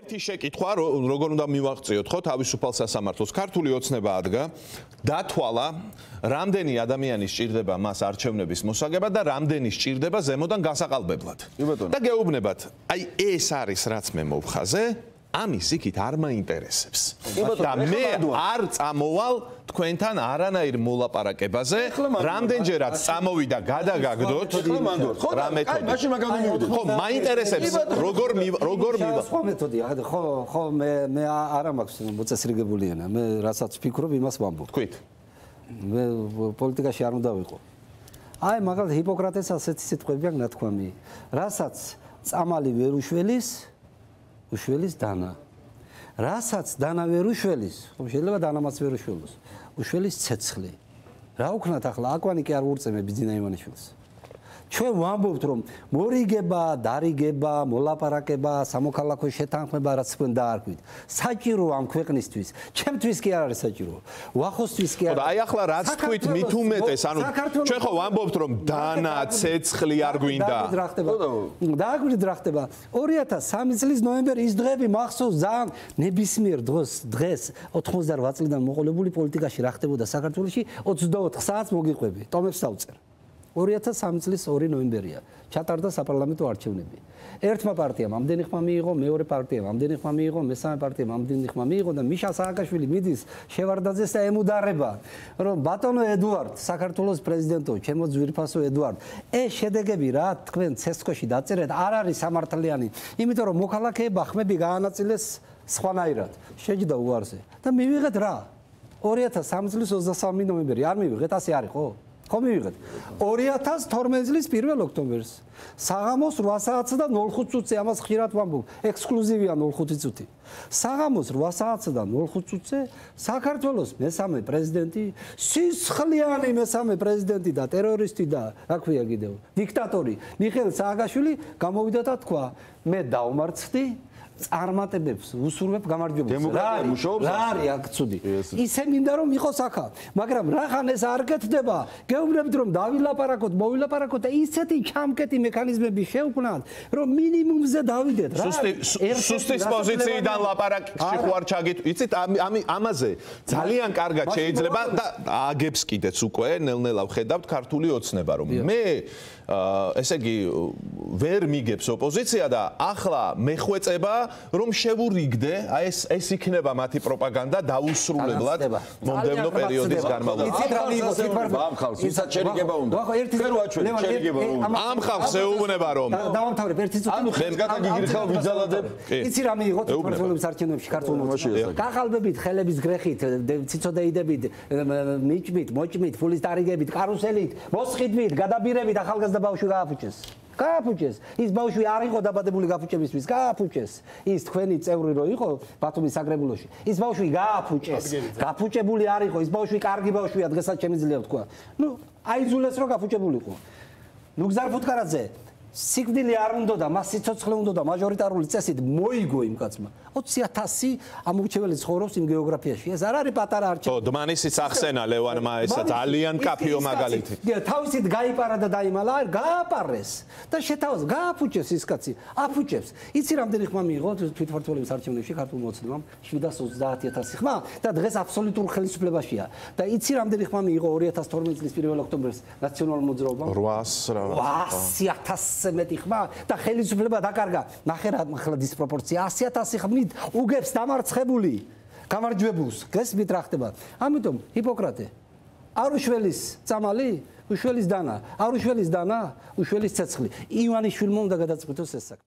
ერთი შეკითხვა, როგორ უნდა მივაღწიოთ ხო თავისუფალ სასამართლოს. ქართული ოცნება ადგა, დათვალა, რამდენი ადამიანი სჭირდება მას არჩევნების მოსაგებად და რამდენი სჭირდება ზემოდან გასაყალბებლად. და გეუბნებათ, აი ეს არის რაც მე მოვხაზე, ამის იქით არ მაინტერესებს. და მე არ წამოვალ თქვენთან არანაირ მოლაპარაკებაზე, რამდენჯერაც წამოვიდა გადაგაგდოთ რა მეთოდი. ხო, მაინტერესებს როგორ მივა. სხვა მეთოდია, ხო მე არა მაქვს მოწესრიგებული ენა, მე რასაც ვფიქრობ, იმას ვამბობ. თქვით. მე პოლიტიკაში არ უნდა ვიყო. აი, მაგალითად ჰიპოკრატეს ასეთი სიტყვები აქვს ნათქვამი, რასაც წამალი ვერ უშველის დანა. რასაც დანა ვერ უშველის, ხო შეიძლება დანამაც ვერ უშველოს. უშველის ცეცხლი. რა უქნათ ახლა აკვანი კი არ ვურწემე ბიძინა ივანიშვილს. ჩვენ ვამბობთ რომ მორიგება, დარიგება, მოლაპარაკება, სამოქალაქო შეთანხმება რაც თქვენ დაარქვით. საჭირო ამ ქვეყნისთვის, ჩემთვის კი არ არის საჭირო. ვახოსთვის კი არ. აი ახლა რაც თქვით მით უმეტეს, ანუ ჩვენ ხო ვამბობთ რომ დანა, ცეცხლი არ გვინდა. დააგვირთ რა ხდება. 2003 წლის ნოემბერი ის დღეები მახსოვს ძალიან ნებისმიერ დღეს 88 წლიდან მოყოლებული პოლიტიკაში რა ხდებოდა საქართველოში 24 საათს მოგიყვები. ტომებს დავწერ. 2003 წლის 2 ნოემბერია ჩატარდა საპარლამენტო არჩევნები. ერთმა პარტიამ ამდენი ხმა მიიღო, მეორე პარტიამ ამდენი ხმა მიიღო, მესამე პარტიამ ამდენი ხმა მიიღო და მიშა სააკაშვილი მიდის შევარდაძეს და ემუდარება, რომ ბატონო ედუარდ, საქართველოს პრეზიდენტო, ჩემო ძვირფასო ედუარდ, ეს შედეგები რა თქვენ ცესკოში დაწერეთ, არ არის სამართლიანი, იმიტომ რომ მოქალაქეება ხმები გაანაწილეს სხვანაირად. შეჯდა უარზე და მივიღეთ რა? 2003 წლის 23 ნოემბერი არ მივიღეთ, ასე არის ხო? ხო მივიღეთ 2012 წლის 1 ოქტომბერს საღამოს 8 საათსა და 05 წუთზე ამას ხშირად ვამბობ ექსკლუზივია 05 წუთი საღამოს 8 საათსა და 05 წუთზე საქართველოს მესამე პრეზიდენტი სისხლიანი მესამე პრეზიდენტი და ტერორისტი და რა ქვია კიდევ დიქტატორი მიხეილ სააკაშვილი გამოვიდა და თქვა მე დავმარცხდი წარმატებებს უსურვებ გამარჯვებას. რა არის აქ ცუდი? ისე მინდა რომ იყოს აქა, მაგრამ რახან ეს არ კეთდება, გეუბნებით რომ დავილაპარაკოთ, მოვილაპარაკოთ და ისეთი ჩამკეტი მექანიზმები შევქმნათ, რომ მინიმუმზე დავიდეთ. სუსტის პოზიციიდან ლაპარაკში ხوار ჩაგით. იცით ამაზე ძალიან კარგად შეიძლება და აგებს კიდეც უკვე ნელ-ნელა ვხედავთ ქართული ოცნება რომ მე ესე იგი ვერ მიგებს ოპოზიცია და ახლა მეხვეწება რომ შევურიგდე აი ეს იქნება მათი პროპაგანდა დაუსრულებლად მომდევნო პერიოდის განმავლობაში. იცით რა მიიღოს ამ ხალხს ვისაც შერიგება უნდა. ვერ ვაჩვენე შერიგება უნდა. ამ ხალხს ეუბნება რომ დავამთავრებ ერთი წუთი. ანუ ხელს გადაგიგრიხავ ვიძალადებ. იცი რა მიიღოთ საქართველოს არჩევნებში ქართულ მოსახლეობას. გახალბებით, ხელების გრეხით, ციცოდეიდებით, მიჭმით, მოჭმით, ფულის დარიგებით, კარუსელით, მოსყიდვით, გადაბირებით ახალგაზრდა ბავშვი გააფუჭეს. გააფუჭეს. ის ბავშვი არ იყო დაბადებული გაფუჭებისთვის, გააფუჭეს. ის თქვენი წევრი რო იყო ბათუმის საგრებულოში. ის ბავშვი გააფუჭეს. გაფუჭებული არ იყო, ის ბავშვი კარგი ბავშვია, დღესაც შემიძლია ვთქვა. ნუ აიძულეს რომ გაფუჭებულიყო. ნუ გზარ ფუტკარაძე სიკვდილი არ უნდა და მას სიცოცხლე უნდა და მაჟორიტარული წესით მოიგო იმ კაცმა 20,000 ამორჩეველი ცხოვრობს იმ გეოგრაფიაში ეს არ არის პატარა არჩევანი. ხო, დმანისიც ახსენა ლევანმა ესა ძალიან კაფეო მაგალითი. თავისით გაიპარა და დაიმალა, არ გააპარეს და შეთავაზ გააფუჭეს ის კაცი, აფუჭებს. იცი რამდენი ხმა მიიღო თვითმმართველობის არჩევნებში ქართულ მოცნებამ 730,000 ხმა და დღეს აბსოლუტურ ხელისუფლებაშია. და იცი რამდენი ხმა მიიღო 2012 წლის 1 ოქტომბერს ნაციონალურ მოძრაობამ 800,000 მეტი ხმა და ხელისუფლება დაკარგა. ნახე რა ახლა დისპროპორცია 100,000 ხმით უგებს დამარცხებული გამარჯვებულს. გესმით რა ხდება? ამიტომ ჰიპოკრატე არ უშველის წამალი, უშველის დანა, არ უშველის დანა, უშველის ცეცხლი. ივანიშვილმა უნდა გადაწყვიტოს ეს საქმე.